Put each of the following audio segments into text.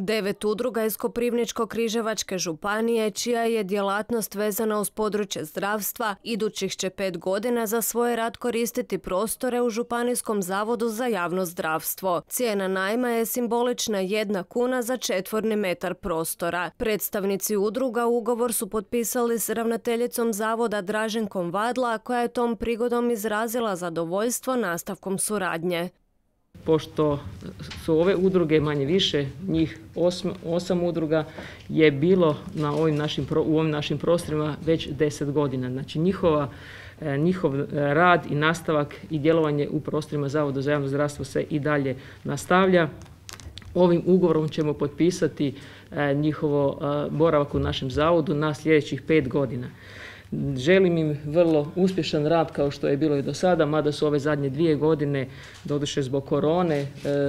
9 udruga iz Koprivničko-križevačke županije, čija je djelatnost vezana uz područje zdravstva, idućih će 5 godina za svoj rad koristiti prostore u Županijskom zavodu za javno zdravstvo. Cijena najma je simbolična 1 kuna za četvorni metar prostora. Predstavnici udruga ugovor su potpisali s ravnateljicom zavoda Draženkom Vadla, koja je tom prigodom izrazila zadovoljstvo nastavkom suradnje. Pošto su ove udruge manje više, njih 8 udruga je bilo u ovim našim prostorima već 10 godina. Znači njihov rad i nastavak i djelovanje u prostorima Zavoda za javno zdravstvo se i dalje nastavlja. Ovim ugovorom ćemo potpisati njihovo boravak u našem zavodu na sljedećih 5 godina. Želim im vrlo uspješan rad kao što je bilo i do sada, mada su ove zadnje 2 godine, doduše zbog korone,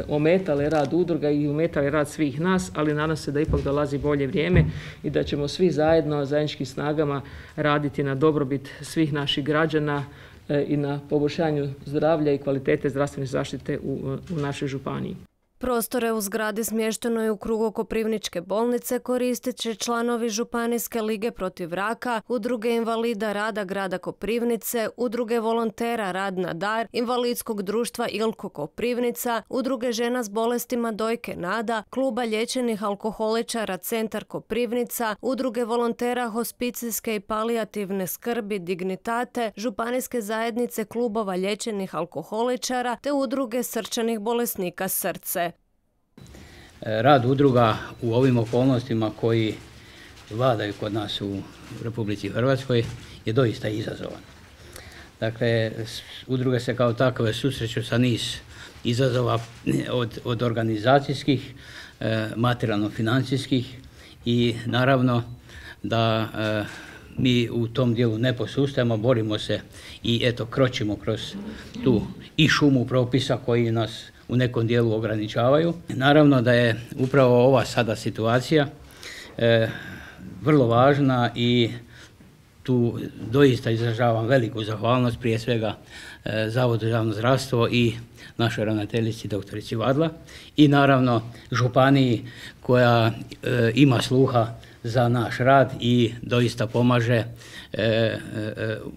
ometale rad udruga i ometale rad svih nas, ali nadam se da ipak dolazi bolje vrijeme i da ćemo svi zajedno, zajedničkim snagama raditi na dobrobit svih naših građana i na poboljšanju zdravlja i kvalitete zdravstvene zaštite u našoj županiji. Prostore u zgradi smještenoj u krugu Koprivničke bolnice koristit će članovi Županijske lige protiv raka, udruge invalida rada grada Koprivnice, udruge volontera Rad na dar, invalidskog društva Ilko Koprivnica, udruge žena s bolestima dojke Nada, kluba liječenih alkoholičara Centar Koprivnica, udruge volontera hospicijske i palijativne skrbi Dignitate, županijske zajednice klubova liječenih alkoholičara te udruge srčanih bolesnika Srce. Rad udruga u ovim okolnostima koji vladaju kod nas u Republici Hrvatskoj je doista izazovan. Dakle, udruge se kao takve susreću sa niz izazova od organizacijskih, materijalno-financijskih i naravno da mi u tom dijelu ne posustajemo, borimo se i kročimo kroz tu i šumu propisa koji nas u nekom dijelu ograničavaju. Naravno da je upravo ova sada situacija vrlo važna i tu doista izražavam veliku zahvalnost prije svega Zavodu za javno zdravstvo i našoj ravnateljici doktorici Vadla i naravno županiji koja ima sluha za naš rad i doista pomaže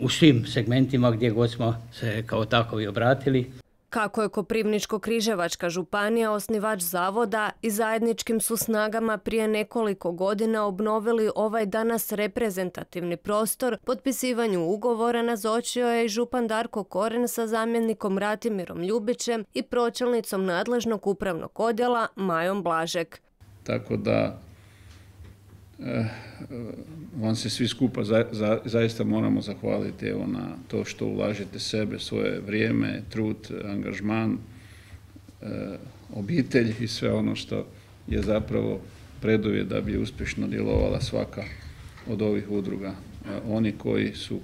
u svim segmentima gdje god smo se kao takovi obratili. Kako je Koprivničko-križevačka županija osnivač zavoda i zajedničkim su snagama prije nekoliko godina obnovili ovaj danas reprezentativni prostor, potpisivanju ugovora nazočio je i župan Darko Koren sa zamjenikom Ratimirom Ljubićem i pročelnicom nadležnog upravnog odjela Majom Blažek. Tako da vam se svi skupa zaista moramo zahvaliti na to što ulažete sebe, svoje vrijeme, trud, angažman, obitelj i sve ono što je zapravo preduvjet da bi uspješno djelovala svaka od ovih udruga. Oni koji su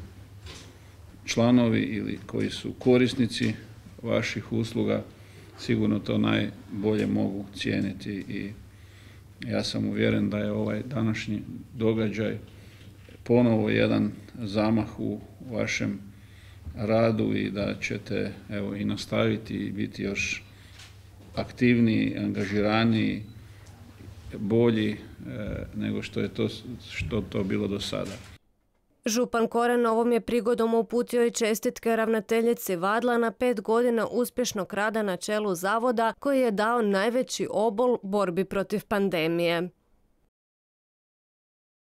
članovi ili koji su korisnici vaših usluga sigurno to najbolje mogu cijeniti i ja sam uvjeren da je ovaj današnji događaj ponovo jedan zamah u vašem radu i da ćete i nastaviti i biti još aktivniji, angažiraniji, bolji nego što je to bilo do sada. Župan Koren ovom je prigodom uputio i čestitke ravnateljici Vadla na 5 godina uspješnog rada na čelu zavoda koji je dao najveći obol borbi protiv pandemije.